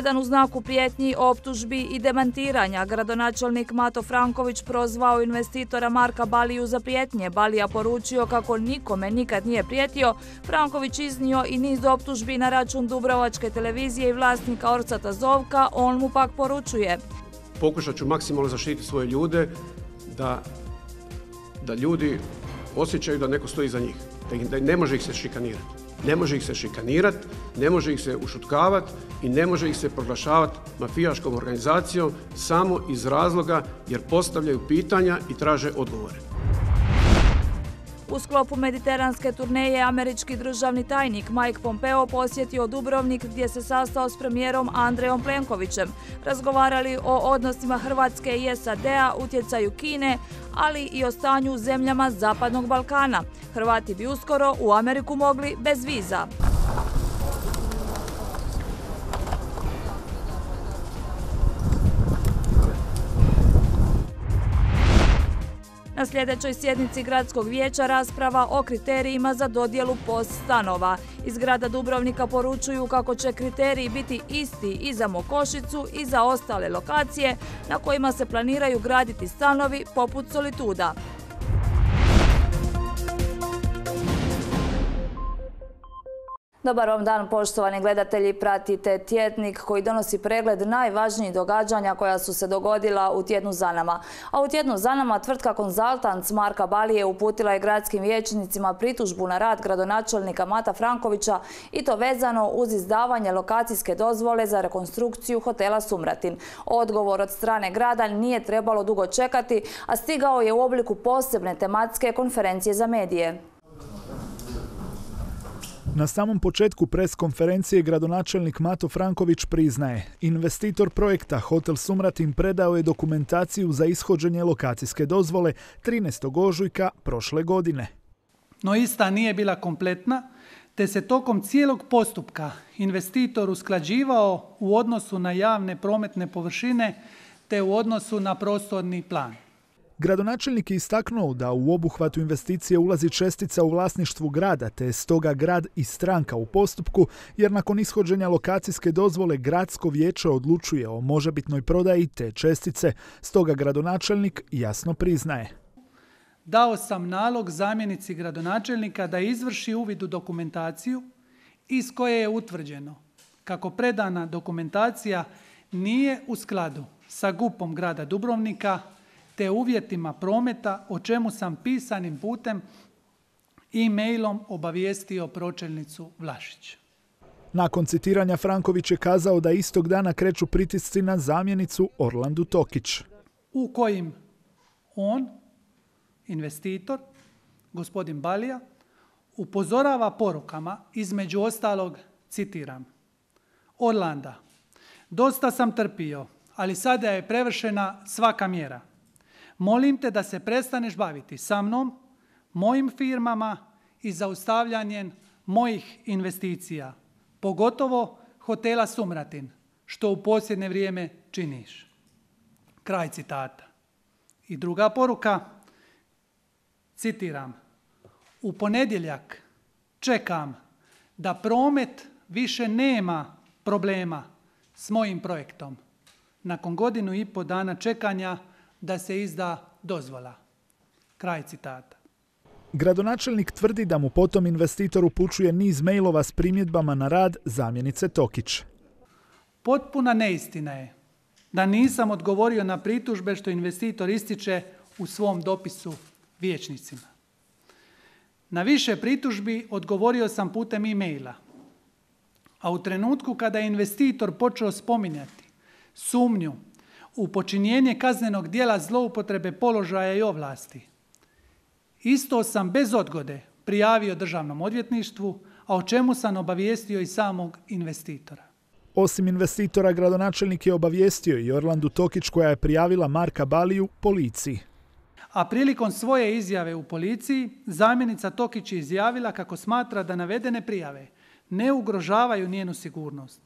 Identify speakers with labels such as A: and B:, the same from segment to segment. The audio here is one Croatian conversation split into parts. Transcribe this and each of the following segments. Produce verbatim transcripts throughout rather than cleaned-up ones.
A: tjedan u znaku prijetnji, optužbi i demantiranja gradonačelnik Mato Franković prozvao investitora Marka Baliju za prijetnje. Balija poručio kako nikome nikad nije prijetio. Franković iznio i niz optužbi na račun Dubrovačke televizije i vlasnika Orsata Zovka. On mu pak poručuje:
B: pokušat ću maksimalno zaštititi svoje ljude, da, da ljudi osjećaju da neko stoji iza njih, da, ih, da ne može ih se šikanirati. Ne može ih se šikanirati, ne može ih se ušutkavati i ne može ih se proglašavati mafijaškom organizacijom samo iz razloga jer postavljaju pitanja i traže odgovore.
A: U sklopu mediteranske turneje američki državni tajnik Mike Pompeo posjetio Dubrovnik gdje se sastao s premijerom Andrejom Plenkovićem. Razgovarali o odnosima Hrvatske i S A D-a, utjecaju Kine, ali i o stanju u zemljama Zapadnog Balkana. Hrvati bi uskoro u Ameriku mogli bez viza. Na sljedećoj sjednici Gradskog vijeća rasprava o kriterijima za dodjelu P O S stanova. Iz grada Dubrovnika poručuju kako će kriteriji biti isti i za Mokošicu i za ostale lokacije na kojima se planiraju graditi stanovi poput Solituda. Dobar vam dan, poštovani gledatelji, pratite tjednik koji donosi pregled najvažnijih događanja koja su se dogodila u tjednu za nama. A u tjednu za nama tvrtka Konzaltants Marka Balije uputila je gradskim vijećnicima pritužbu na rad gradonačelnika Mata Frankovića i to vezano uz izdavanje lokacijske dozvole za rekonstrukciju hotela Sumratin. Odgovor od strane grada nije trebalo dugo čekati, a stigao je u obliku posebne tematske konferencije za medije.
C: Na samom početku pres konferencije gradonačelnik Mato Franković priznaje, investitor projekta Hotel Sumratin predao je dokumentaciju za ishođenje lokacijske dozvole trinaestog ožujka prošle godine.
D: No ista nije bila kompletna, te se tokom cijelog postupka investitor usklađivao u odnosu na javne prometne površine te u odnosu na prostorni plan.
C: Gradonačelnik je istaknuo da u obuhvatu investicije ulazi čestica u vlasništvu grada, te je stoga grad i stranka u postupku, jer nakon ishođenja lokacijske dozvole gradsko vijeće odlučuje o možebitnoj prodaji te čestice, stoga gradonačelnik jasno priznaje.
D: Dao sam nalog zamjenici gradonačelnika da izvrši uvid u dokumentaciju iz koje je utvrđeno kako predana dokumentacija nije u skladu sa G U P-om grada Dubrovnika te uvjetima prometa, o čemu sam pisanim putem e-mailom obavijestio pročelnicu Vlašić.
C: Nakon citiranja Franković je kazao da istog dana kreću pritisci na zamjenicu Orlandu Tokić.
D: U kojim on, investitor, gospodin Balija, upozorava porukama, između ostalog, citiram: Orlanda, dosta sam trpio, ali sada je prevršena svaka mjera. Molim te da se prestaneš baviti sa mnom, mojim firmama i zaustavljanjem mojih investicija, pogotovo hotela Sumratin, što u posljednje vrijeme činiš. Kraj citata. I druga poruka, citiram: u ponedjeljak čekam da promet više nema problema s mojim projektom. Nakon godinu i pol dana čekanja da se izda dozvola. Kraj citata.
C: Gradonačelnik tvrdi da mu potom investitor upućuje niz mailova s primjedbama na rad zamjenice Tokić.
D: Potpuna neistina je da nisam odgovorio na pritužbe što investitor ističe u svom dopisu vijećnicima. Na više pritužbi odgovorio sam putem e-maila, a u trenutku kada je investitor počeo spominjati sumnju u počinjenje kaznenog djela zloupotrebe položaja i ovlasti, isto sam bez odgode prijavio državnom odvjetništvu, a o čemu sam obavijestio i samog investitora.
C: Osim investitora, gradonačelnik je obavijestio i Orlandu Tokić, koja je prijavila Marka Baliju policiji.
D: A prilikom svoje izjave u policiji, zamjenica Tokić je izjavila kako smatra da navedene prijave ne ugrožavaju njenu sigurnost,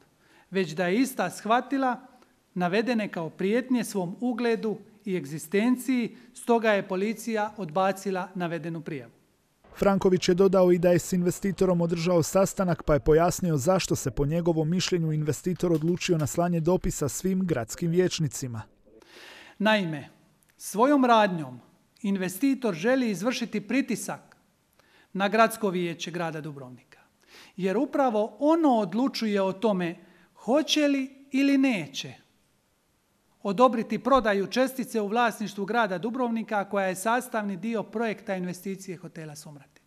D: već da je ista shvatila navedene kao prijetnje svom ugledu i egzistenciji, stoga je policija odbacila navedenu prijavu.
C: Franković je dodao i da je s investitorom održao sastanak pa je pojasnio zašto se po njegovom mišljenju investitor odlučio na slanje dopisa svim gradskim vijećnicima.
D: Naime, svojom radnjom investitor želi izvršiti pritisak na gradsko vijeće grada Dubrovnika. Jer upravo ono odlučuje o tome hoće li ili neće odobriti prodaju čestice u vlasništvu grada Dubrovnika koja je sastavni dio projekta investicije hotela Sumratin.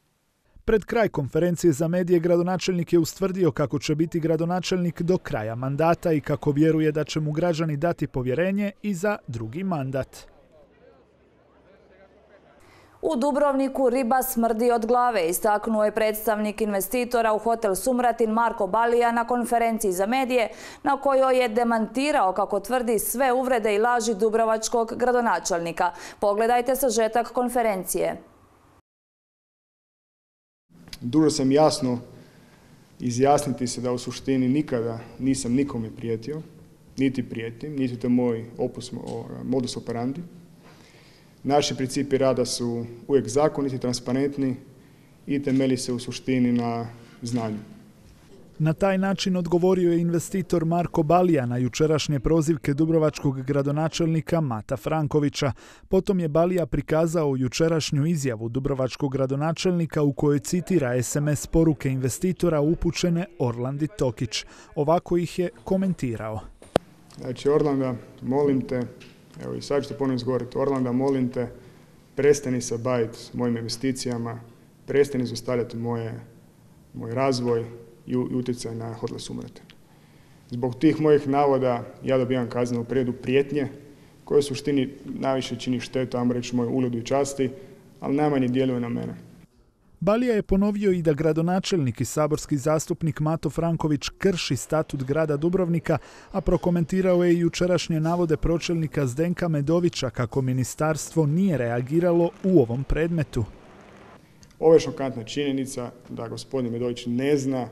C: Pred kraj konferencije za medije gradonačelnik je ustvrdio kako će biti gradonačelnik do kraja mandata i kako vjeruje da će mu građani dati povjerenje i za drugi mandat.
A: U Dubrovniku riba smrdi od glave, istaknuo je predstavnik investitora u hotel Sumratin Marko Balija na konferenciji za medije, na kojoj je demantirao, kako tvrdi, sve uvrede i laži dubrovačkog gradonačelnika. Pogledajte sažetak konferencije.
E: Dužan sam jasno izjasniti se da u suštini nikada nisam nikome prijetio, niti prijetim, niti to je moj opus, modus operandi. Naši principi rada su uvijek zakoniti, transparentni i temelji se u suštini na znanju.
C: Na taj način odgovorio je investitor Marko Balija na jučerašnje prozivke dubrovačkog gradonačelnika Mata Frankovića. Potom je Balija prikazao jučerašnju izjavu dubrovačkog gradonačelnika u kojoj citira es em es poruke investitora upućene Orlandi Tokić. Ovako ih je komentirao.
E: Znači, Orlanda, molim te, evo i sad ću te ponovno izgovoriti, Orlanda, molim te, prestani se baviti mojim investicijama, prestani zaustavljati moje, moj razvoj i utjecaj na hotel Sumratin. Zbog tih mojih navoda ja dobivam kaznenu prijavu prijetnje koje u suštini najviše čini štetu, ajmo reći, moj ugledu i časti, ali najmanje djeluje na mene.
C: Balija je ponovio i da gradonačelnik i saborski zastupnik Mato Franković krši statut grada Dubrovnika, a prokomentirao je i jučerašnje navode pročelnika Zdenka Medovića kako ministarstvo nije reagiralo u ovom predmetu.
E: Ovo je šokantna činjenica da gospodin Medović ne zna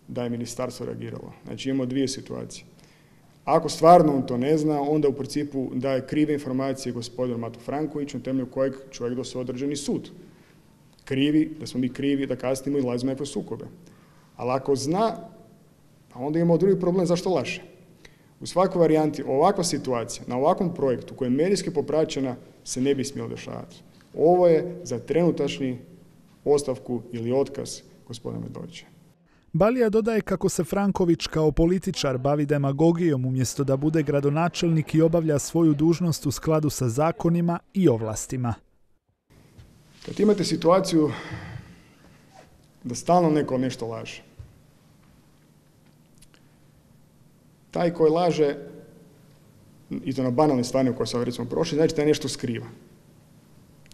E: da je ministarstvo reagiralo. Znači imamo dvije situacije. Ako stvarno on to ne zna, onda u principu daje krive informacije gospodinu Matu Frankoviću na temelju kojeg čovjek donosi određeni sud. Krivi, da smo mi krivi, da kasnimo i lazimo nekakve sukobe. Ali ako zna, onda imamo drugi problem zašto laže. U svakoj varijanti ovakva situacija na ovakvom projektu koja je medijski popraćena se ne bi smjelo dešavati. Ovo je za trenutačni ostavku ili otkaz gospodina Medovića.
C: Balija dodaje kako se Franković kao političar bavi demagogijom umjesto da bude gradonačelnik i obavlja svoju dužnost u skladu sa zakonima i ovlastima.
E: Kad imate situaciju da stalno neko nešto laže, taj koji laže, i to na banalne stvari u koje sam recimo prošli, znači da nešto skriva.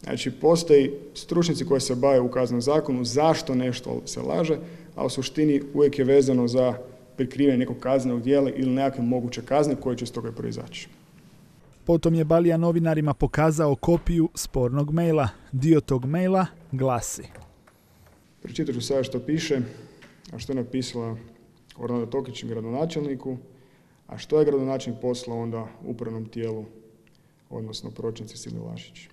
E: Znači, postoji stručnjaci koji se bave u kaznenom zakonu zašto nešto se laže, a u suštini uvijek je vezano za prikrivanje nekog kaznenog djela ili nekakve moguće kazne koje će iz toga proizaći.
C: Potom je Balija novinarima pokazao kopiju spornog maila. Dio tog maila glasi.
E: Pročitat ću sada što piše, a što je napisala Orlanda Tokić gradonačelniku, a što je gradonačelnik poslao onda upravnom tijelu, odnosno pročelnici Silvi Lašić.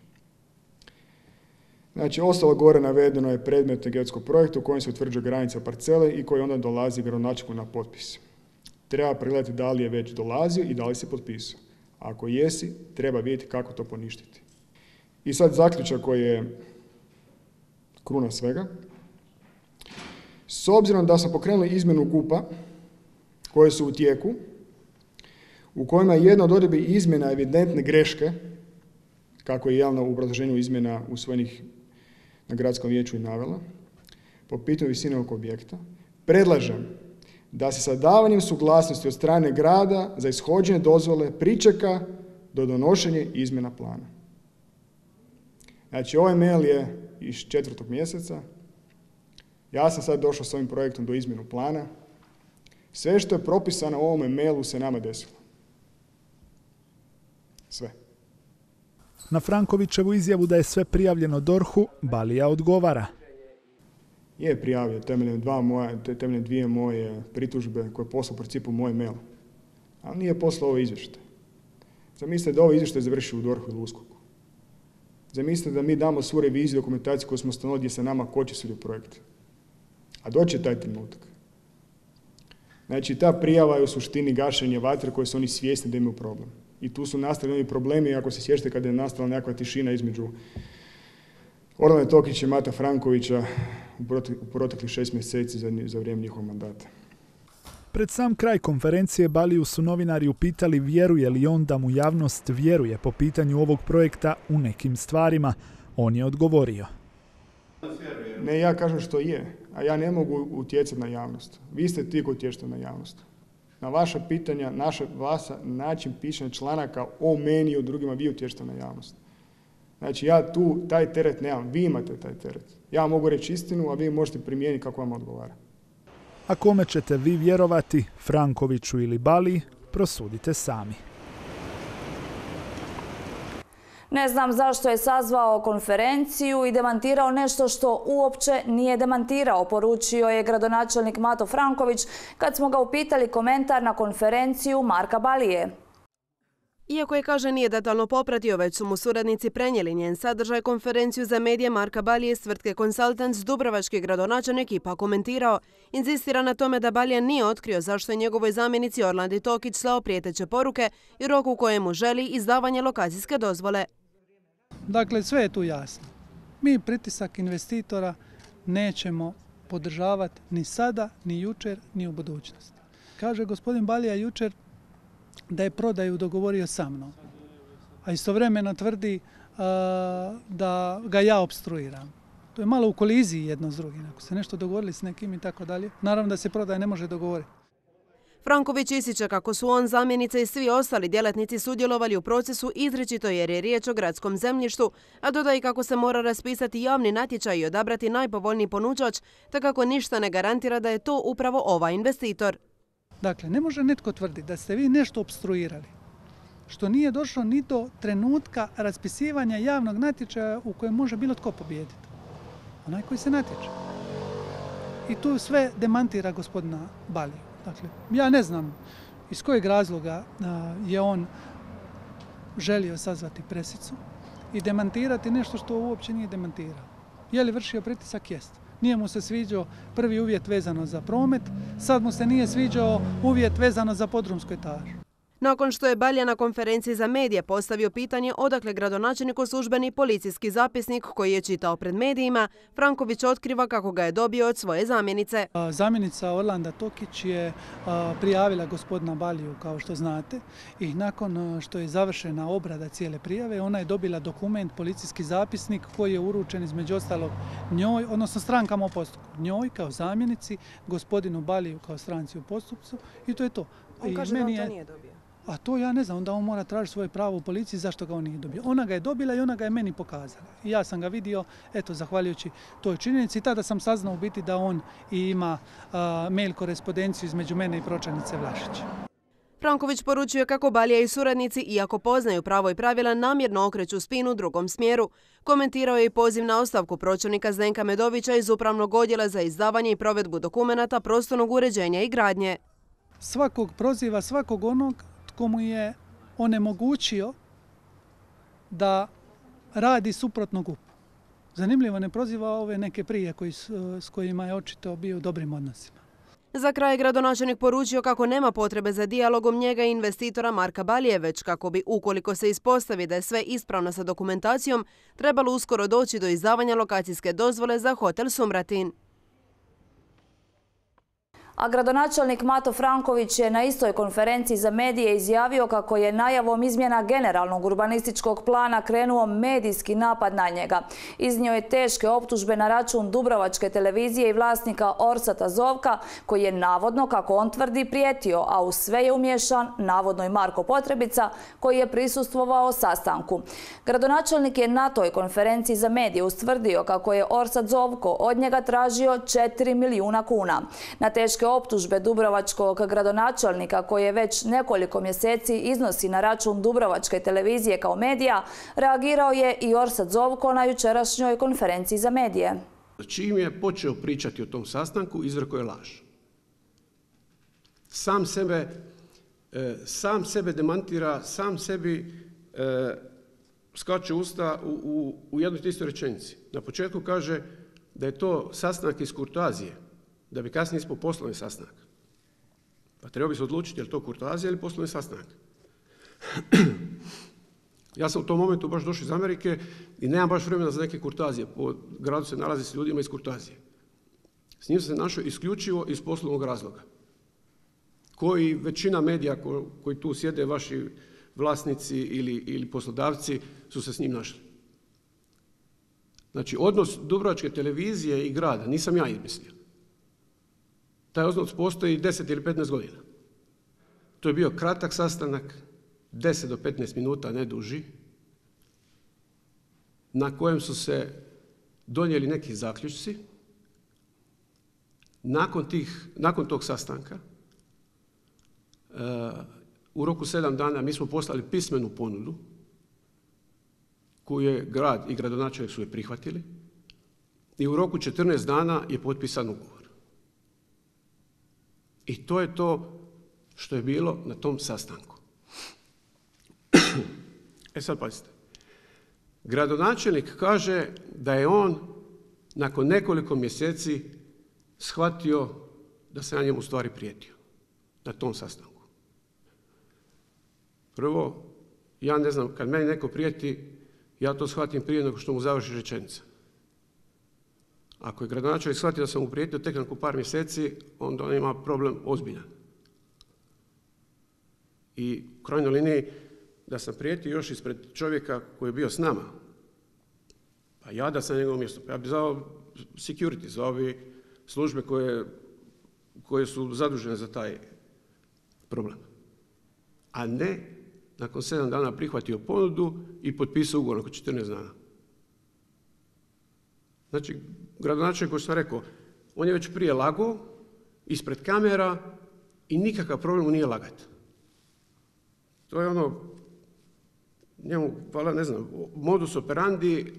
E: Znači, ostalo gore navedeno je predmet geodetskog projekta u kojem se utvrđuje granica parcele i koji onda dolazi gradonačelniku na potpis. Treba pregledati da li je već dolazio i da li se potpisao. Ako jesi, treba vidjeti kako to poništiti. I sad zaključak koji je kruna svega. S obzirom da smo pokrenuli izmjenu G U P-a koje su u tijeku, u kojima je jedna od odredbi izmjena evidentne greške, kako je javno u obrazloženju izmjena usvojenih na gradskom vijeću i navela, po pitanju visine ovog objekta, predlažem da se sa davanjem suglasnosti od strane grada za ishođenje dozvole pričeka do donošenja izmjena plana. Znači, ovaj mail je iz četvrtog mjeseca. Ja sam sad došao s ovim projektom do izmjenu plana. Sve što je propisano u ovome mailu se nama desilo. Sve.
C: Na Frankovićevu izjavu da je sve prijavljeno D O R H-u, Balija odgovara.
E: Je prijavio temeljem, dva moje, temeljem dvije moje pritužbe koje je poslao u principu moj mail. Ali nije poslao ovo izvještaj. Zamislite da ovo izvještaj završi u D O R H-u ili U S K O K-u. Zamislite da mi damo svu reviziju dokumentaciju koju smo ustanovili gdje se nama koči svi projekti. A doći će taj trenutak. Znači, ta prijava je u suštini gašenje vatre koje su oni svjesni da imaju problem. I tu su nastali oni problemi, ako se sjećate kada je nastala nekakva tišina između Orlane Tokića i Mata Frankovića u proteklih šest mjeseci za, za vrijeme njihovog mandata.
C: Pred sam kraj konferencije Baliju su novinari upitali vjeruje li on da mu javnost vjeruje po pitanju ovog projekta u nekim stvarima. On je odgovorio.
E: Ne, ja kažem što je, a ja ne mogu utjecati na javnost. Vi ste ti koji utječete na javnost. Na vaša pitanja, naša vlasa, način pisanja članaka o meni i o drugima, vi utječete na javnost. Znači ja tu taj teret nemam, vi imate taj teret. Ja mogu reći istinu, a vi možete primijeniti kako vam odgovara.
C: A kome ćete vi vjerovati, Frankoviću ili Baliji, prosudite sami.
A: Ne znam zašto je sazvao konferenciju i demantirao nešto što uopće nije demantirao, poručio je gradonačelnik Mato Franković kad smo ga upitali komentar na konferenciju Marka Balije.
F: Iako je, kaže, nije detaljno popratio, već su mu suradnici prenijeli njen sadržaj, konferenciju za medije Marka Balije s tvrtke Consultants, dubrovački gradonačelnik ipak komentirao. Inzistira na tome da Balija nije otkrio zašto je njegovoj zamjenici Orlandi Tokić slao prijeteće poruke i rok u kojemu želi izdavanje lokacijske dozvole.
D: Dakle, sve je tu jasno. Mi pritisak investitora nećemo podržavati ni sada, ni jučer, ni u budućnosti. Kaže gospodin Balija jučer da je prodaju dogovorio sa mnom, a istovremeno tvrdi uh, da ga ja opstruiram. To je malo u koliziji jedno s drugim. Ako se nešto dogovorili s nekim i tako dalje, naravno da se prodaja ne može dogovoriti.
F: Franković ističe kako su on, zamjenica i svi ostali djelatnici sudjelovali u procesu izričito jer je riječ o gradskom zemljištu, a dodaje kako se mora raspisati javni natječaj i odabrati najpovoljniji ponuđač, te kako ništa ne garantira da je to upravo ovaj investitor.
D: Dakle, ne može netko tvrditi da ste vi nešto opstruirali, što nije došlo ni do trenutka raspisivanja javnog natječaja u kojem može bilo tko pobijediti. Onaj koji se natječe. I tu sve demantira gospodina Baliju. Dakle, ja ne znam iz kojeg razloga je on želio sazvati presicu i demantirati nešto što uopće nije demantirao. Je li vršio pritisak? Jest. Nije mu se sviđao prvi uvjet vezano za promet, sad mu se nije sviđao uvjet vezano za podrumsku etažu.
F: Nakon što je Balija na konferenciji za medije postavio pitanje odakle gradonačelniku službeni policijski zapisnik koji je čitao pred medijima, Franković otkriva kako ga je dobio od svoje zamjenice.
D: Zamjenica Orlanda Tokić je prijavila gospodina Baliju, kao što znate, i nakon što je završena obrada cijele prijave, ona je dobila dokument, policijski zapisnik koji je uručen između ostalog njoj, odnosno strankama u postupku. Njoj kao zamjenici, gospodinu Baliju kao stranci u postupcu i to je to.
F: On kaže da on to nije dobio.
D: A to ja ne znam, onda on mora tražiti svoje pravo u policiji zašto ga on nije dobio. Ona ga je dobila i ona ga je meni pokazala. I ja sam ga vidio, eto, zahvaljujući toj činjenici. I tada sam saznao u biti da on i ima a, mail korespondenciju između mene i pročelnice Vlašić.
F: Franković poručuje kako Balija i suradnici, iako poznaju pravo i pravila, namjerno okreću spinu u drugom smjeru. Komentirao je i poziv na ostavku pročelnika Zdenka Medovića iz Upravnog odjela za izdavanje i provedbu dokumenata prostornog uređenja i gradnje.
D: Svakog proziva, svakog onog tko mu je onemogućio da radi suprotno G U P-u. Zanimljivo, ne proziva ove neke prije koji, s kojima je očito bio u dobrim odnosima.
F: Za kraj gradonačelnik poručio kako nema potrebe za dijalogom njega i investitora Marka Balije, već kako bi, ukoliko se ispostavi da je sve ispravno sa dokumentacijom, trebalo uskoro doći do izdavanja lokacijske dozvole za hotel Sumratin.
A: A gradonačelnik Mato Franković je na istoj konferenciji za medije izjavio kako je najavom izmjena generalnog urbanističkog plana krenuo medijski napad na njega. Iznio je teške optužbe na račun Dubrovačke televizije i vlasnika Orsata Zovka, koji je navodno, kako on tvrdi, prijetio, a u sve je umješan navodno i Marko Potrebica, koji je prisustvovao sastanku. Gradonačelnik je na toj konferenciji za medije ustvrdio kako je Orsat Zovko od njega tražio četiri milijuna kuna. Na teške optužbe dubrovačkog gradonačelnika, koje već nekoliko mjeseci iznosi na račun Dubrovačke televizije kao medija, reagirao je i Orsat Zovko na jučerašnjoj konferenciji za medije.
B: Čim je počeo pričati o tom sastanku, izrekao je laž. Sam sebe, sam sebe demantira, sam sebi skače usta u, u, u jednoj istoj rečenici. Na početku kaže da je to sastanak iz kurtoazije, da bi kasnije ispao poslovni sastanak. Pa treba bi se odlučiti je li to kurtoazija ili poslovni sastanak. Ja sam u tom momentu baš došao iz Amerike i nemam baš vremena za neke kurtoazije. Po gradu se nalazi s ljudima iz kurtoazije. S njim sam se našao isključivo iz poslovnog razloga. Koji većina medija ko, koji tu sjede, vaši vlasnici ili, ili poslodavci, su se s njim našli. Znači, odnos Dubrovačke televizije i grada nisam ja izmislio. Taj odnos postoji deset ili petnaest godina. To je bio kratak sastanak, deset do petnaest minuta, ne duži, na kojem su se donijeli neki zaključci. Nakon, tih, nakon tog sastanka, uh, u roku sedam dana mi smo poslali pismenu ponudu koju je grad i gradonačelnik su je prihvatili i u roku četrnaest dana je potpisan ugovor. I to je to što je bilo na tom sastanku. E sad pazite. Gradonačelnik kaže da je on nakon nekoliko mjeseci shvatio da se ja njemu u stvari prijetio na tom sastanku. Prvo, ja ne znam, kad meni neko prijeti, ja to shvatim prije nego što mu završi rečenica. Ako je gradonačelnik shvatio da sam mu prijetio tek nakon par mjeseci, onda on ima problem ozbiljan. I u krajnjoj liniji, da sam prijetio još ispred čovjeka koji je bio s nama, pa ja da sam na njegovom mjestu, pa ja bih zvao security, zvao bi službe koje, koje su zadužene za taj problem. A ne nakon sedam dana prihvatio ponudu i potpisao ugovor nakon četrnaest dana. Znači, gradonačelnik, koji sam rekao, on je već prije lagao ispred kamera i nikakav problem nije lagati. To je ono, njemu, hvala, ne znam, modus operandi,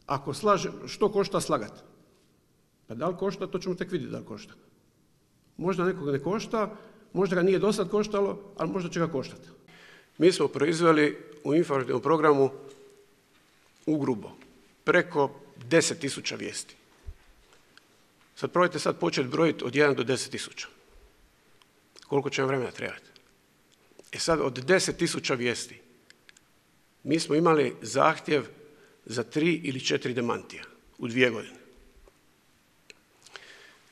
B: ako slaže, što košta slagati? Pa da li košta, to ćemo tek vidjeti da li košta. Možda nekog ne košta, možda ga nije do sad koštalo, ali možda će ga koštati. Mi smo proizveli u informativnom programu ugrubo preko deset tisuća vijesti. Sad probajte sad početi brojiti od jedan do deset tisuća. Koliko će vam vremena trebati? E sad, od deset tisuća vijesti mi smo imali zahtjev za tri ili četiri demantija u dvije godine.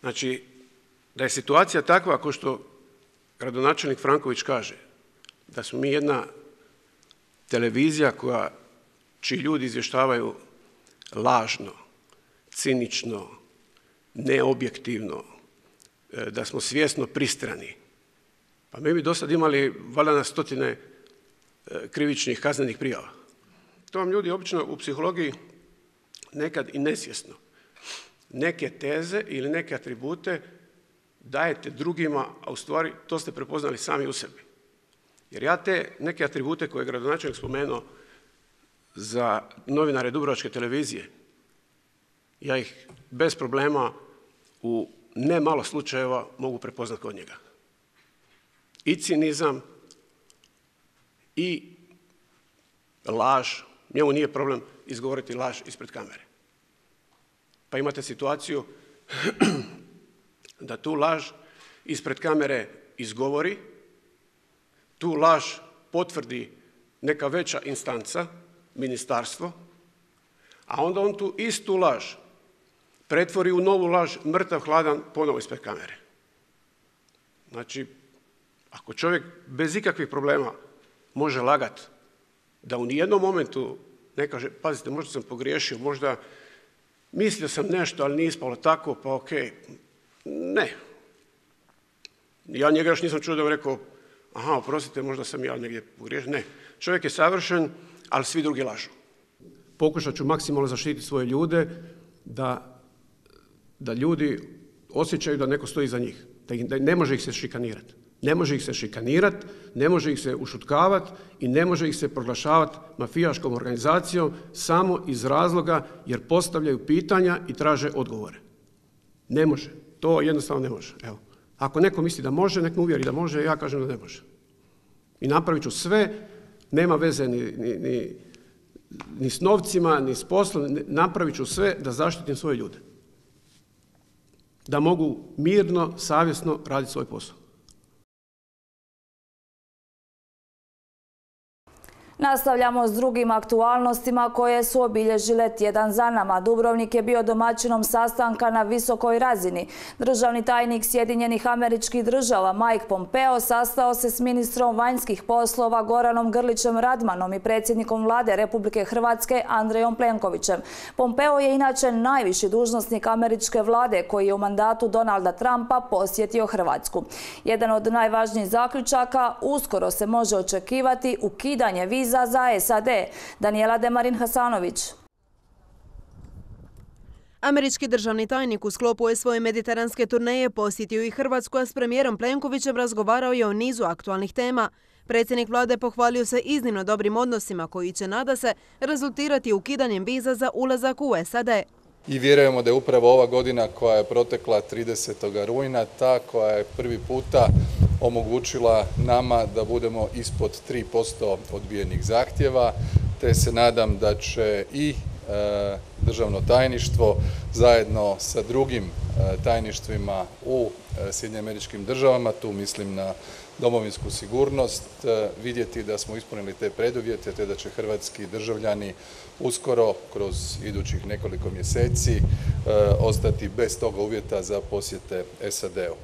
B: Znači, da je situacija takva, ako što gradonačelnik Franković kaže, da smo mi jedna televizija koja, čiji ljudi izvještavaju lažno, cinično, neobjektivno, da smo svjesno pristrani. Pa mi bi do sad imali valjda na stotine krivičnih kaznenih prijava. To vam ljudi obično u psihologiji nekad i nesvjesno neke teze ili neke atribute dajete drugima, a u stvari to ste prepoznali sami u sebi. Jer ja te neke atribute koje je gradonačelnik spomenuo za novinare Dubrovačke televizije, ja ih bez problema u ne malo slučajeva mogu prepoznati kod njega. I cinizam, i laž, njemu nije problem izgovoriti laž ispred kamere. Pa imate situaciju da tu laž ispred kamere izgovori, tu laž potvrdi neka veća instanca, ministarstvo, a onda on tu istu laž pretvori u novu laž, mrtav hladan, ponovo ispred kamere. Znači, ako čovjek bez ikakvih problema može lagat, da u nijednom momentu ne kaže, pazite, možda sam pogriješio, možda mislio sam nešto, ali nije ispalo tako, pa okej. Ne. Ja njega još nisam čuo da vam rekao, aha, oprostite, možda sam ja negdje pogriješio. Ne. Čovjek je savršen, ali svi drugi lažu. Pokušat ću maksimalno zaštititi svoje ljude, da, da ljudi osjećaju da neko stoji iza njih, da, ih, da ne može ih se šikanirati. Ne može ih se šikanirati, ne može ih se ušutkavati i ne može ih se proglašavati mafijaškom organizacijom samo iz razloga jer postavljaju pitanja i traže odgovore. Ne može. To jednostavno ne može. Evo. Ako neko misli da može, nek me uvjeri da može, ja kažem da ne može. I napravit ću sve, nema veze ni, ni, ni ni s novcima, ni s poslom, napravit ću sve da zaštitim svoje ljude. Da mogu mirno, savjesno raditi svoj posao.
A: Nastavljamo s drugim aktualnostima koje su obilježile tjedan za nama. Dubrovnik je bio domaćinom sastanka na visokoj razini. Državni tajnik Sjedinjenih Američkih Država Mike Pompeo sastao se s ministrom vanjskih poslova Goranom Grlićem Radmanom i predsjednikom vlade Republike Hrvatske Andrejom Plenkovićem. Pompeo je inače najviši dužnosnik američke vlade koji je u mandatu Donalda Trumpa posjetio Hrvatsku. Jedan od najvažnijih zaključaka, uskoro se može očekivati ukidanje viza za S A D. Danijela Demarin Hasanović.
F: Američki državni tajnik u sklopu svoje mediteranske turneje posjetio i Hrvatsku, a s premijerom Plenkovićem razgovarao je o nizu aktualnih tema. Predsjednik vlade pohvalio se iznimno dobrim odnosima koji će, nada se, rezultirati ukidanjem viza za ulazak u S A D.
G: I vjerujemo da je upravo ova godina koja je protekla tridesetog rujna ta koja je prvi puta omogućila nama da budemo ispod tri posto odbijenih zahtjeva, te se nadam da će i e, državno tajništvo zajedno sa drugim e, tajništvima u e, Sjedinjenim Američkim Državama, tu mislim na domovinsku sigurnost, e, vidjeti da smo ispunili te preduvjete, te da će hrvatski državljani uskoro, kroz idućih nekoliko mjeseci, e, ostati bez toga uvjeta za posjete S A D-u.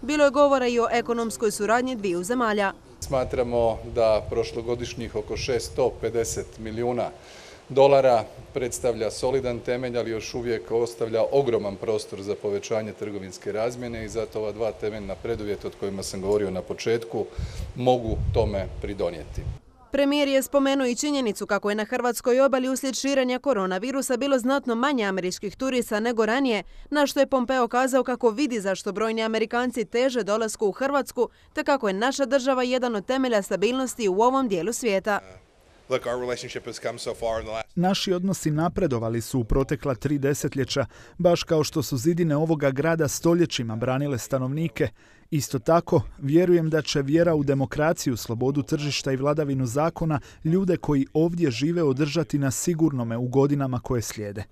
F: Bilo je govora i o ekonomskoj suradnji dviju zemalja.
G: Smatramo da prošlogodišnjih oko šesto pedeset milijuna dolara predstavlja solidan temelj, ali još uvijek ostavlja ogroman prostor za povećanje trgovinske razmjene i zato ova dva temeljna preduvjeta, o kojima sam govorio na početku, mogu tome pridonijeti.
F: Premijer je spomenuo i činjenicu kako je na hrvatskoj obali uslijed širenja koronavirusa bilo znatno manje američkih turista nego ranije, na što je Pompeo kazao kako vidi zašto brojni Amerikanci teže dolasku u Hrvatsku, te kako je naša država jedan od temelja stabilnosti u ovom dijelu svijeta.
C: Naši odnosi napredovali su u protekla tri desetljeća, baš kao što su zidine ovoga grada stoljećima branile stanovnike. Isto tako, vjerujem da će vjera u demokraciju, slobodu tržišta i vladavinu zakona ljude koji ovdje žive održati na sigurnome u godinama koje slijede.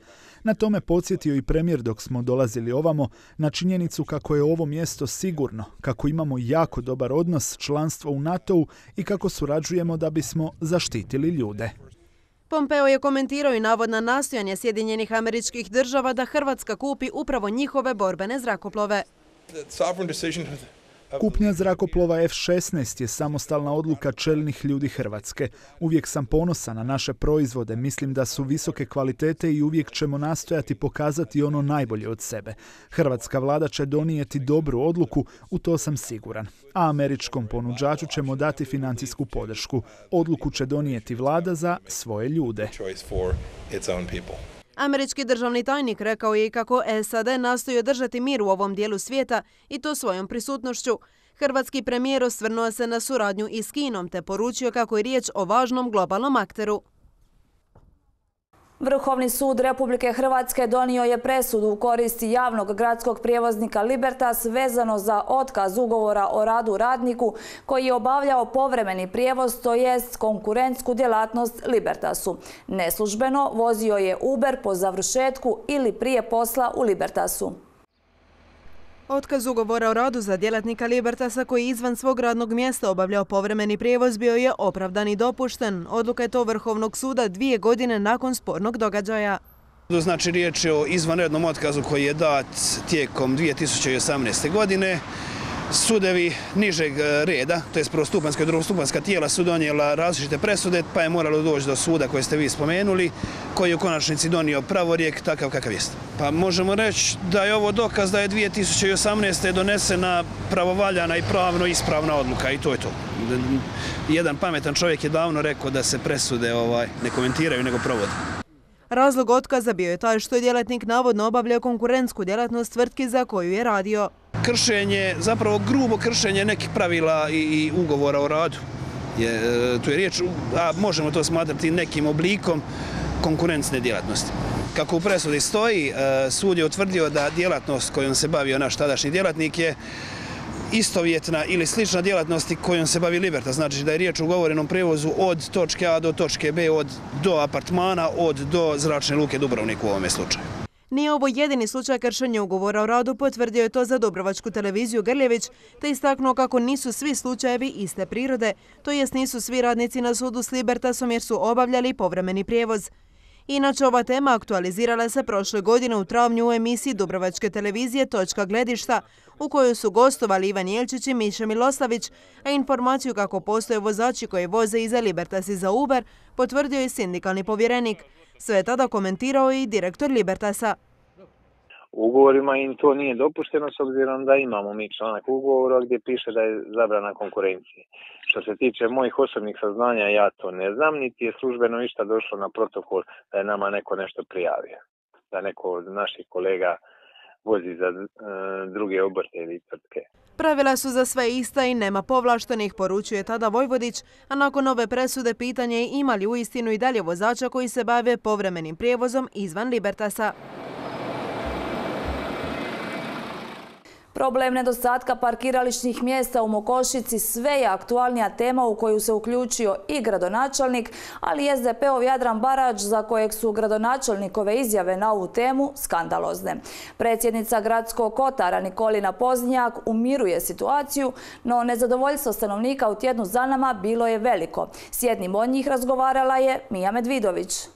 C: Na tome podsjetio i premijer dok smo dolazili ovamo, na činjenicu kako je ovo mjesto sigurno, kako imamo jako dobar odnos, članstvo u NATO-u i kako surađujemo da bismo zaštitili ljude.
F: Pompeo je komentirao i navodna nastojanja Sjedinjenih Američkih Država da Hrvatska kupi upravo njihove borbene zrakoplove.
C: Kupnja zrakoplova F šesnaest je samostalna odluka čelnih ljudi Hrvatske. Uvijek sam ponosan na naše proizvode, mislim da su visoke kvalitete i uvijek ćemo nastojati pokazati ono najbolje od sebe. Hrvatska vlada će donijeti dobru odluku, u to sam siguran. A američkom ponuđaču ćemo dati financijsku podršku. Odluku će donijeti vlada za svoje ljude.
F: Američki državni tajnik rekao je i kako S A D nastoji održati mir u ovom dijelu svijeta i to svojom prisutnošću. Hrvatski premijer osvrnuo se na suradnju i s Kinom te poručio kako je riječ o važnom globalnom akteru.
A: Vrhovni sud Republike Hrvatske donio je presudu u korist javnog gradskog prijevoznika Libertas vezano za otkaz ugovora o radu radniku koji je obavljao povremeni prijevoz, to jest konkurentsku djelatnost Libertasu. Neslužbeno vozio je Uber po završetku ili prije posla u Libertasu.
F: Otkaz ugovora o radu za djelatnika Libertasa koji izvan svog radnog mjesta obavljao povremeni prijevoz bio je opravdan i dopušten. Odluka je to Vrhovnog suda dvije godine nakon spornog događaja.
H: Znači, riječ je o izvanrednom otkazu koji je dat tijekom dvije tisuće osamnaeste. godine. Sudevi nižeg reda, to je prvostupanjska i drugostupanjska tijela, su donijela različite presude, pa je moralo doći do suda koje ste vi spomenuli, koji je u konačnici donio pravorijek takav kakav jest. Pa možemo reći da je ovo dokaz da je dvije tisuće osamnaeste. donesena pravovaljana i pravno ispravna odluka i to je to. Jedan pametan čovjek je davno rekao da se presude ovaj, ne komentiraju nego provode.
F: Razlog otkaza bio je taj što je djelatnik navodno obavljao konkurentsku djelatnost tvrtki za koju je radio.
H: Kršenje, zapravo grubo kršenje nekih pravila i ugovora o radu. Je, tu je riječ, a možemo to smatrati nekim oblikom konkurentsne djelatnosti. Kako u presudi stoji, sud je utvrdio da djelatnost kojom se bavio naš tadašnji djelatnik je istovjetna ili slična djelatnosti kojom se bavi Libertas. Znači da je riječ o ugovorenom prijevozu od točke A do točke B, od do apartmana, od do zračne luke Dubrovnik u ovome slučaju.
F: Nije ovo jedini slučaj kršenja ugovora o radu, potvrdio je to za Dubrovačku televiziju Grljević, te istaknuo kako nisu svi slučajevi iste prirode, to jest nisu svi radnici na sudu s Libertasom jer su obavljali povremeni prijevoz. Inače, ova tema aktualizirala se prošle godine u travnju u emisiji Dubrovačke televizije Točka gledišta, u kojoj su gostovali Ivan Jelčić i Miša Miloslavić, a informaciju kako postoje vozači koji voze i za Libertas i za Uber potvrdio je sindikalni povjerenik. Sve je tada komentirao i direktor Libertasa.
I: U ugovorima im to nije dopušteno s obzirom da imamo mi članak ugovora gdje piše da je zabrana konkurencije. Što se tiče mojih osobnih saznanja, ja to ne znam, niti je službeno išta došlo na protokol da je nama neko nešto prijavio. Da neko od naših kolega vozi za e, druge obrte ili tvrtke.
F: Pravila su za sve ista i nema povlaštenih, poručuje tada Vojvodić, a nakon ove presude pitanje je ima li uistinu i dalje vozača koji se bave povremenim prijevozom izvan Libertasa.
A: Problem nedostatka parkirališnih mjesta u Mokošici sve je aktualnija tema u koju se uključio i gradonačelnik, ali i es de pe-ov Jadran Barač, za kojeg su gradonačelnikove izjave na ovu temu skandalozne. Predsjednica gradskog kotara Nikolina Poznjak umiruje situaciju, no nezadovoljstvo stanovnika u tjednu za nama bilo je veliko. S jednim od njih razgovarala je Mija Medvidović.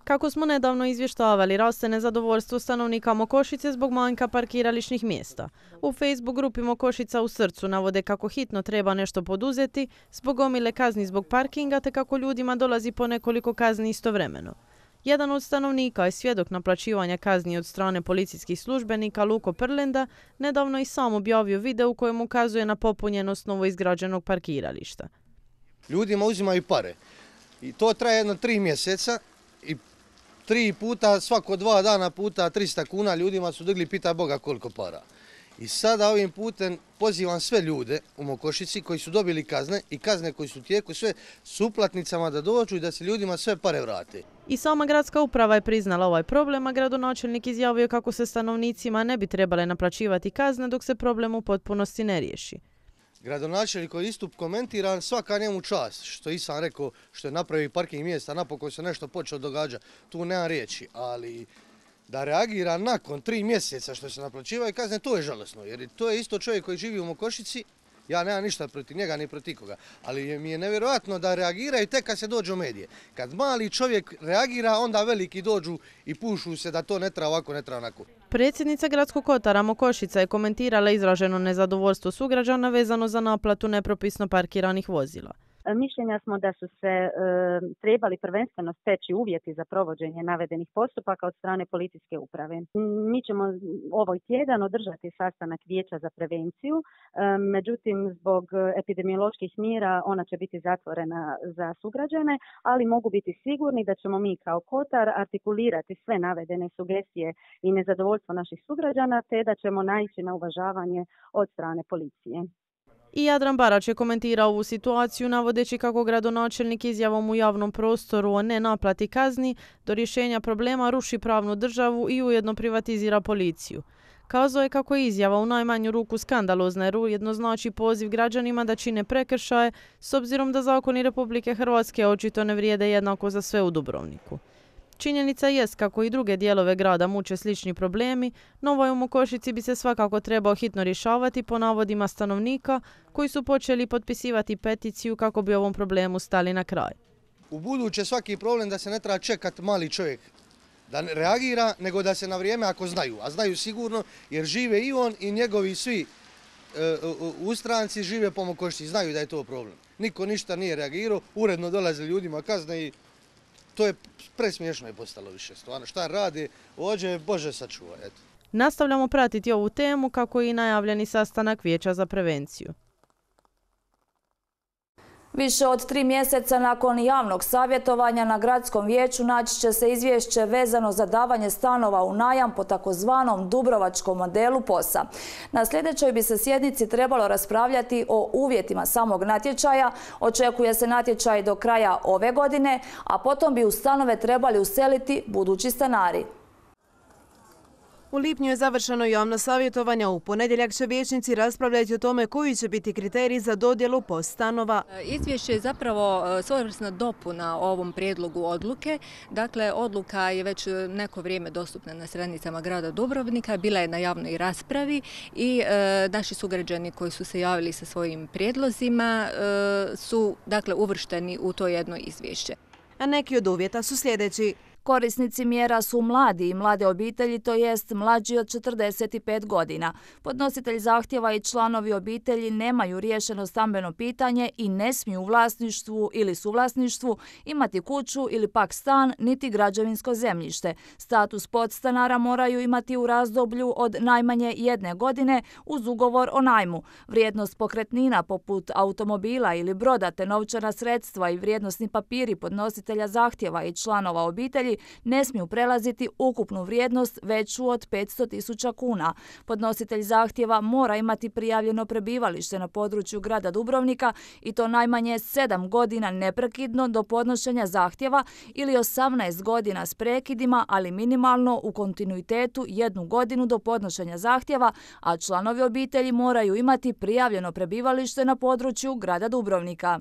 J: Kako smo nedavno izvještavali, raste nezadovoljstvo stanovnika Mokošice zbog manjka parkirališnih mjesta. U Facebook grupi Mokošica u srcu navode kako hitno treba nešto poduzeti zbog gomile kazni zbog parkinga te kako ljudima dolazi po nekoliko kazni istovremeno. Jedan od stanovnika je svjedok naplaćivanja kazni od strane policijskih službenika Luko Prlenda, nedavno i sam objavio video u kojem ukazuje na popunjenost novoizgrađenog parkirališta.
K: Ljudima uzimaju pare i to traje jedno tri mjeseca i tri puta, svako dva dana puta tristo kuna ljudima su digli, pitaj Boga koliko para. I sada ovim putem pozivam sve ljude u Mokošici koji su dobili kazne i kazne koji su u tijeku sve s uplatnicama da dođu i da se ljudima sve pare vrate.
J: I sama gradska uprava je priznala ovaj problem, a gradonačelnik izjavio kako se stanovnicima ne bi trebale naplaćivati kazne dok se problem u potpunosti ne riješi.
K: Gradonačelnikov istup komentiran, svaka njemu čast, što i sam rekao, što je napravio parking mjesta, napokon se nešto počeo događati, tu nema riječi, ali da reagira nakon tri mjeseca što se naplaćivaju kazne, to je žalosno, jer to je isto čovjek koji živi u Mokošici, ja nemam ništa protiv njega ni protiv koga, ali mi je nevjerojatno da reagiraju tek kad se dođe u medije. Kad mali čovjek reagira, onda veliki dođu i pušu se da to ne treba ovako, ne treba onako.
J: Predsjednica gradskog kotara Mokošica je komentirala izraženo nezadovoljstvo sugrađana vezano za naplatu nepropisno parkiranih vozila.
L: Mišljenja smo da su se e, trebali prvenstveno steći uvjeti za provođenje navedenih postupaka od strane policijske uprave. Mi ćemo ovaj tjedan održati sastanak vijeća za prevenciju, e, međutim zbog epidemioloških mjera ona će biti zatvorena za sugrađane, ali mogu biti sigurni da ćemo mi kao kotar artikulirati sve navedene sugestije i nezadovoljstvo naših sugrađana, te da ćemo naići na uvažavanje od strane policije.
J: I Jadran Barač je komentirao ovu situaciju navodeći kako gradonačelnik izjavom u javnom prostoru o nenaplati kazni do rješenja problema ruši pravnu državu i ujedno privatizira policiju. Kazao je kako je izjava u najmanju ruku skandalozna jer ujedno znači poziv građanima da čine prekršaje s obzirom da zakoni Republike Hrvatske očito ne vrijede jednako za sve u Dubrovniku. Činjenica jest kako i druge dijelove grada muče slični problemi, no ovaj u Mokošici bi se svakako trebao hitno rješavati po navodima stanovnika koji su počeli potpisivati peticiju kako bi ovom problemu stali na kraj.
K: U buduće svaki problem da se ne treba čekati mali čovjek da reagira, nego da se na vrijeme ako znaju, a znaju sigurno jer žive i on i njegovi svi e, u stranci žive po Mokošici, znaju da je to problem. Niko ništa nije reagirao, uredno dolaze ljudima kazne i to je presmiješno je postalo više stvarno. Šta radi, ođe, Bože sačuva. Eto.
J: Nastavljamo pratiti ovu temu kako i najavljeni sastanak vijeća za prevenciju.
A: Više od tri mjeseca nakon javnog savjetovanja na gradskom vijeću naći će se izvješće vezano za davanje stanova u najam po takozvanom dubrovačkom modelu POS-a. Na sljedećoj bi se sjednici trebalo raspravljati o uvjetima samog natječaja. Očekuje se natječaj do kraja ove godine, a potom bi u stanove trebali useliti budući stanari.
F: U lipnju je završeno javno savjetovanje. U ponedjeljak će vijećnici raspravljati o tome koji će biti kriteriji za dodjelu POS stanova.
M: Izvješće je zapravo svojevrsna dopuna ovom prijedlogu odluke. Dakle, odluka je već neko vrijeme dostupna na stranicama grada Dubrovnika, bila je na javnoj raspravi i e, naši sugrađani koji su se javili sa svojim prijedlozima e, su dakle uvršteni u to jedno izvješće.
F: A neki od uvjeta su sljedeći.
A: Korisnici mjera su mladi i mlade obitelji, to jest mlađi od četrdeset pet godina. Podnositelj zahtjeva i članovi obitelji nemaju riješeno stambeno pitanje i ne smiju u vlasništvu ili suvlasništvu imati kuću ili pak stan niti građevinsko zemljište. Status podstanara moraju imati u razdoblju od najmanje jedne godine uz ugovor o najmu. Vrijednost pokretnina poput automobila ili broda te novčana sredstva i vrijednosni papiri podnositelja zahtjeva i članova obitelji ne smiju prelaziti ukupnu vrijednost veću od petsto tisuća kuna. Podnositelj zahtjeva mora imati prijavljeno prebivalište na području grada Dubrovnika i to najmanje sedam godina neprekidno do podnošenja zahtjeva ili osamnaest godina s prekidima, ali minimalno u kontinuitetu jednu godinu do podnošenja zahtjeva, a članovi obitelji moraju imati prijavljeno prebivalište na području grada Dubrovnika.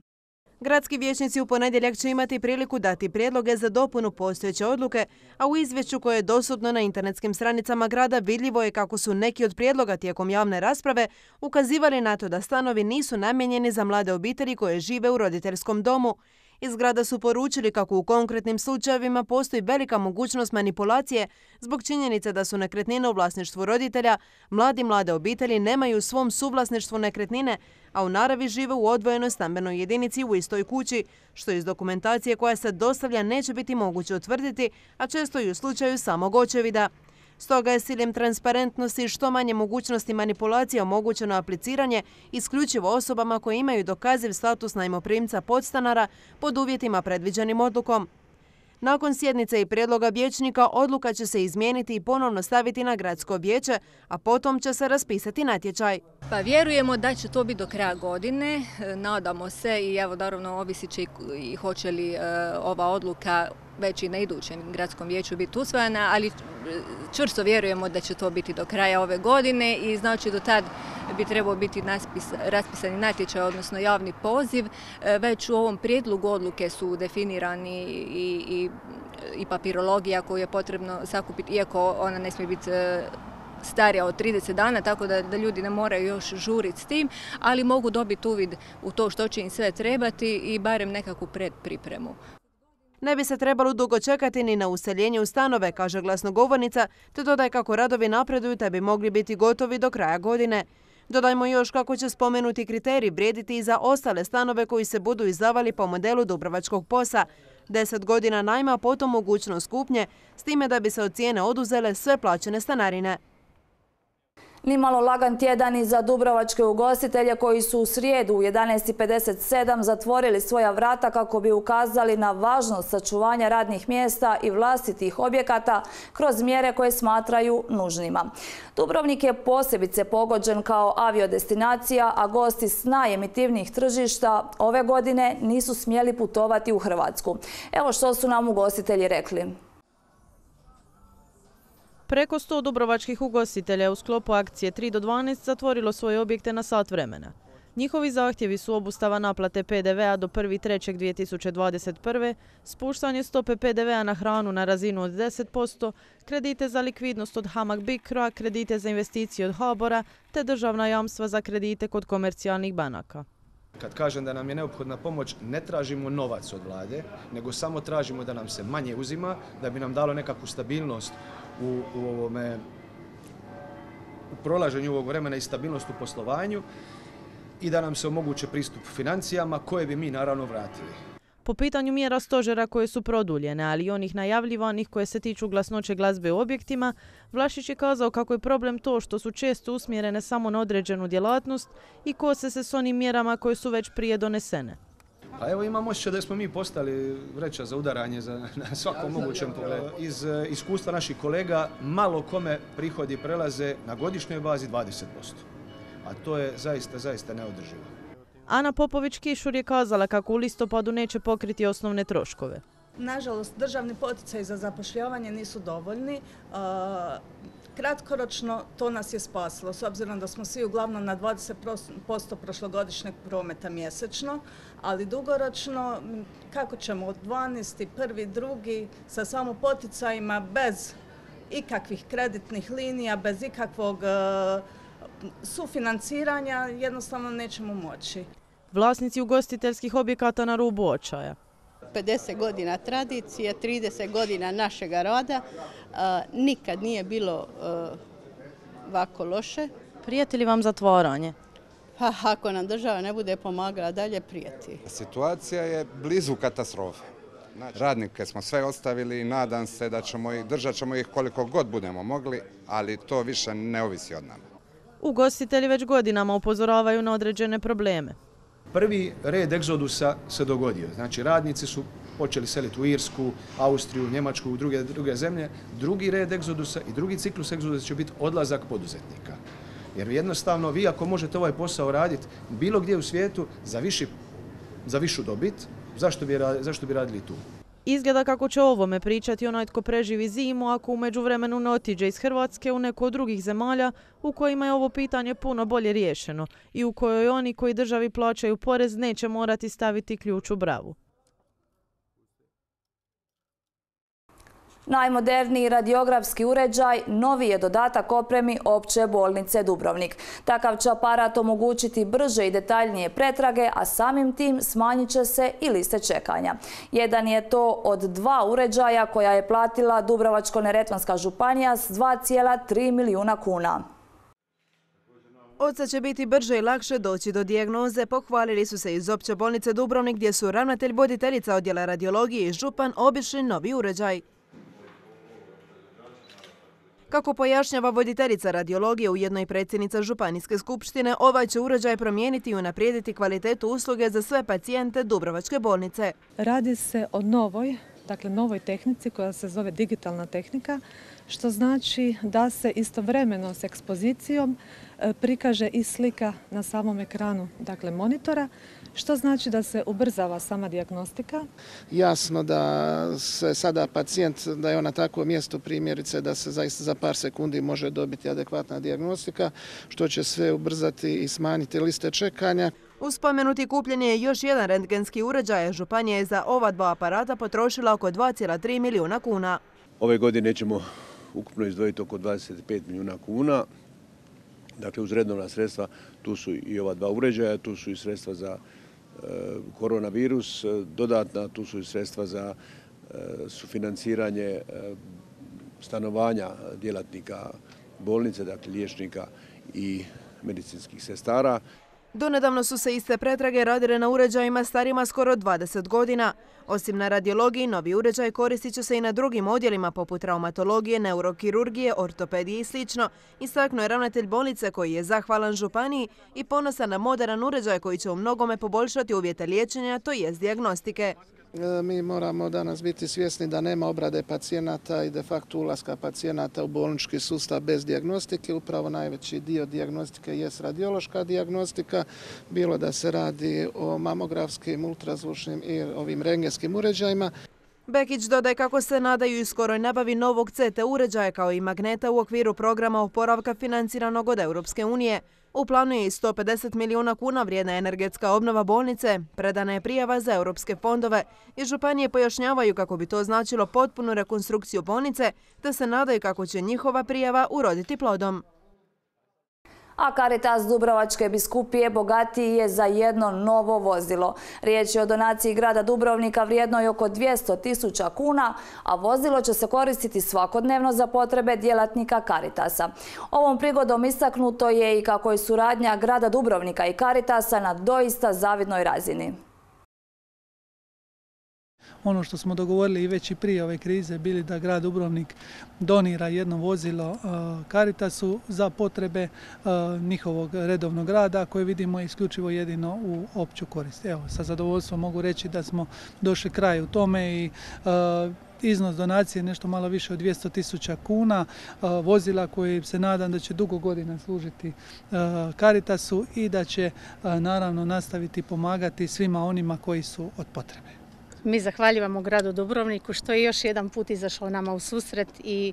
F: Gradski vijećnici u ponedjeljak će imati priliku dati prijedloge za dopunu postojeće odluke, a u izvješću koje je dostupno na internetskim stranicama grada vidljivo je kako su neki od prijedloga tijekom javne rasprave ukazivali na to da stanovi nisu namijenjeni za mlade obitelji koje žive u roditeljskom domu. Iz grada su poručili kako u konkretnim slučajevima postoji velika mogućnost manipulacije zbog činjenice da su nekretnine u vlasništvu roditelja, mladi mlade obitelji nemaju u svom suvlasništvu nekretnine, a u naravi žive u odvojenoj stambenoj jedinici u istoj kući, što iz dokumentacije koja se dostavlja neće biti moguće utvrditi, a često i u slučaju samog očevida. Stoga je s ciljem transparentnosti i što manje mogućnosti manipulacije omogućeno apliciranje isključivo osobama koje imaju dokaziv status najmoprimca podstanara pod uvjetima predviđenim odlukom. Nakon sjednice i prijedloga vijećnika odluka će se izmijeniti i ponovno staviti na gradsko vijeće, a potom će se raspisati natječaj.
M: Pa vjerujemo da će to biti do kraja godine, nadamo se i evo naravno ovisit će i hoće li e, ova odluka već i na idućem gradskom vijeću biti usvojena, ali čvrsto vjerujemo da će to biti do kraja ove godine i znači do tad bi trebao biti naspis, raspisani natječaj, odnosno javni poziv. Već u ovom prijedlogu odluke su definirani i, i, i papirologija koju je potrebno sakupiti, iako ona ne smije biti starija od trideset dana, tako da, da ljudi ne moraju još žuriti s tim, ali mogu dobiti uvid u to što će im sve trebati i barem nekakvu predpripremu.
F: Ne bi se trebalo dugo čekati ni na useljenje u stanove, kaže glasnogovornica, te dodaje kako radovi napreduju te bi mogli biti gotovi do kraja godine. Dodajmo još kako će spomenuti kriterij vrijediti i za ostale stanove koji se budu izdavali po modelu Dubrovačkog POS-a. Deset godina najma, potom mogućnost kupnje, s time da bi se od cijene oduzele sve plaćene stanarine.
A: Nimalo lagan tjedan i za dubrovačke ugostitelje koji su u srijedu u jedanaest i pedeset sedam zatvorili svoja vrata kako bi ukazali na važnost sačuvanja radnih mjesta i vlastitih objekata kroz mjere koje smatraju nužnima. Dubrovnik je posebice pogođen kao aviodestinacija, a gosti s najemitivnijih tržišta ove godine nisu smjeli putovati u Hrvatsku. Evo što su nam ugostitelji rekli.
J: Preko sto dubrovačkih ugostitelja u sklopu akcije tri do dvanaest zatvorilo svoje objekte na sat vremena. Njihovi zahtjevi su obustava naplate pe de vea do prvog trećeg dvije tisuće dvadeset prve, spuštanje stope pe de vea na hranu na razinu od deset posto, kredite za likvidnost od Hamag Bicro, kredite za investicije od Habora te državna jamstva za kredite kod komercijalnih banaka.
N: Kad kažem da nam je neophodna pomoć, ne tražimo novac od vlade, nego samo tražimo da nam se manje uzima, da bi nam dalo nekakvu stabilnost u, u, ovome, u prolaženju ovog vremena i stabilnost u poslovanju i da nam se omoguće pristup financijama koje bi mi naravno vratili.
J: Po pitanju mjera stožera koje su produljene, ali i onih najavljivanih koje se tiču glasnoće glazbe u objektima, Vlašić je kazao kako je problem to što su često usmjerene samo na određenu djelatnost i kose se s onim mjerama koje su već prije donesene.
N: Pa evo imam osjećaj da smo mi postali vreća za udaranje za, na svakom mogućem pogledu. Iz uh, iskustva naših kolega malo kome prihodi prelaze na godišnjoj bazi dvadeset posto, a to je zaista, zaista neodrživo.
J: Ana Popović-Kišur je kazala kako u listopadu neće pokriti osnovne troškove.
O: Nažalost, državni poticaji za zapošljavanje nisu dovoljni. Kratkoročno to nas je spasilo, s obzirom da smo svi uglavnom na dvadeset posto prošlogodišnjeg prometa mjesečno, ali dugoročno kako ćemo od dvanaest, prvi, drugi sa samo poticajima bez ikakvih kreditnih linija, bez ikakvog sufinanciranja jednostavno nećemo moći.
J: Vlasnici ugostiteljskih objekata na rubu očaja.
P: pedeset godina tradicije, trideset godina našega rada, nikad nije bilo ovako loše.
J: Prijeti li vam zatvaranje?
P: Pa ako nam država ne bude pomagala dalje, prijeti.
Q: Situacija je blizu katastrofe. Radnike smo sve ostavili i nadam se da ćemo ih, držat ćemo ih koliko god budemo mogli, ali to više ne ovisi od nama.
J: Ugostitelji već godinama upozoravaju na određene probleme.
N: Prvi red egzodusa se dogodio. Znači, radnici su počeli seliti u Irsku, Austriju, Njemačku, u druge, druge zemlje. Drugi red egzodusa i drugi ciklus egzodusa će biti odlazak poduzetnika. Jer jednostavno, vi ako možete ovaj posao raditi bilo gdje u svijetu za, viši, za višu dobit, zašto bi, zašto bi radili tu?
J: Izgleda kako će o ovome pričati onaj tko preživi zimu ako u međuvremenu ne otiđe iz Hrvatske u neku od drugih zemalja u kojima je ovo pitanje puno bolje riješeno i u kojoj oni koji državi plaćaju porez neće morati staviti ključ u bravu.
A: Najmoderniji radiografski uređaj novi je dodatak opremi Opće bolnice Dubrovnik. Takav će aparat omogućiti brže i detaljnije pretrage, a samim tim smanjit će se i liste čekanja. Jedan je to od dva uređaja koja je platila Dubrovačko-neretvanska županija s dva zarez tri milijuna kuna.
F: Od sad će biti brže i lakše doći do dijagnoze, pohvalili su se iz Opće bolnice Dubrovnik gdje su ravnatelj voditeljica odjela radiologije i župan obišli novi uređaj. Kako pojašnjava voditeljica radiologije, ujedno i predsjednica Županijske skupštine, ovaj će uređaj promijeniti i unaprijediti kvalitetu usluge za sve pacijente Dubrovačke bolnice.
R: Radi se o novoj, dakle novoj tehnici koja se zove digitalna tehnika, što znači da se istovremeno s ekspozicijom prikaže i slika na samom ekranu, dakle monitora, što znači da se ubrzava sama dijagnostika.
S: Jasno da se sada pacijent, da je on na takvom mjestu primjerice da se zaista za par sekundi može dobiti adekvatna dijagnostika, što će sve ubrzati i smanjiti liste čekanja.
F: Uz spomenuti kupljen je još jedan rentgenski uređaj. Županija je za ova dva aparata potrošila oko dva zarez tri milijuna kuna.
T: Ove godine ćemo ukupno izdvojiti oko dvadeset pet milijuna kuna. Dakle, uz redovna sredstva tu su i ova dva uređaja, tu su i sredstva za e, koronavirus, dodatna, tu su i sredstva za e, sufinanciranje e, stanovanja djelatnika bolnice, dakle liječnika i medicinskih sestara.
F: Donedavno su se iste pretrage radile na uređajima starima skoro dvadeset godina. Osim na radiologiji, novi uređaj koristit će se i na drugim odjelima poput traumatologije, neurokirurgije, ortopedije i sl. Istaknuo je ravnatelj bolnice koji je zahvalan županiji i ponosan na moderan uređaj koji će u mnogome poboljšati uvjete liječenja, to jest dijagnostike.
S: Mi moramo danas biti svjesni da nema obrade pacijenata i de facto ulaska pacijenata u bolnički sustav bez dijagnostike. Upravo najveći dio dijagnostike jest radiološka dijagnostika, bilo da se radi o mamografskim, ultrazvučnim i ovim rengenskim uređajima.
F: Bekić dodaje kako se nadaju i skoroj nabavi novog C T uređaja kao i magneta u okviru programa oporavka financiranog od Europske unije. U planu je i sto pedeset milijuna kuna vrijedna energetska obnova bolnice, predana je prijava za europske fondove i županije pojašnjavaju kako bi to značilo potpunu rekonstrukciju bolnice, te se nadaju kako će njihova prijava uroditi plodom.
A: A Caritas Dubrovačke biskupije bogatiji je za jedno novo vozilo. Riječ je o donaciji grada Dubrovnika vrijednoj oko dvjesto tisuća kuna, a vozilo će se koristiti svakodnevno za potrebe djelatnika Caritasa. Ovom prigodom istaknuto je i kako je suradnja grada Dubrovnika i Caritasa na doista zavidnoj razini.
D: Ono što smo dogovorili i već i prije ove krize bili da grad Dubrovnik donira jedno vozilo Caritasu za potrebe njihovog redovnog rada koje vidimo isključivo jedino u opću korist. Evo, sa zadovoljstvom mogu reći da smo došli kraju tome i iznos donacije nešto malo više od dvjesto tisuća kuna, vozila koje se nadam da će dugo godina služiti Caritasu i da će naravno nastaviti pomagati svima onima koji su od potrebe.
U: Mi zahvaljujemo gradu Dubrovniku što je još jedan put izašao nama u susret i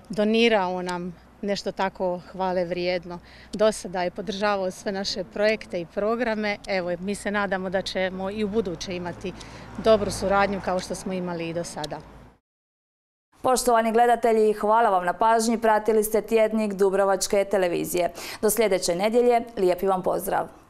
U: donirao nam
P: nešto tako hvale vrijedno. Do sada je podržavao sve naše projekte i programe. Evo, mi se nadamo da ćemo i u buduće imati dobru suradnju kao što smo imali i do sada.
A: Poštovani gledatelji, hvala vam na pažnji. Pratili ste tjednik Dubrovačke televizije. Do sljedeće nedjelje, lijepi vam pozdrav.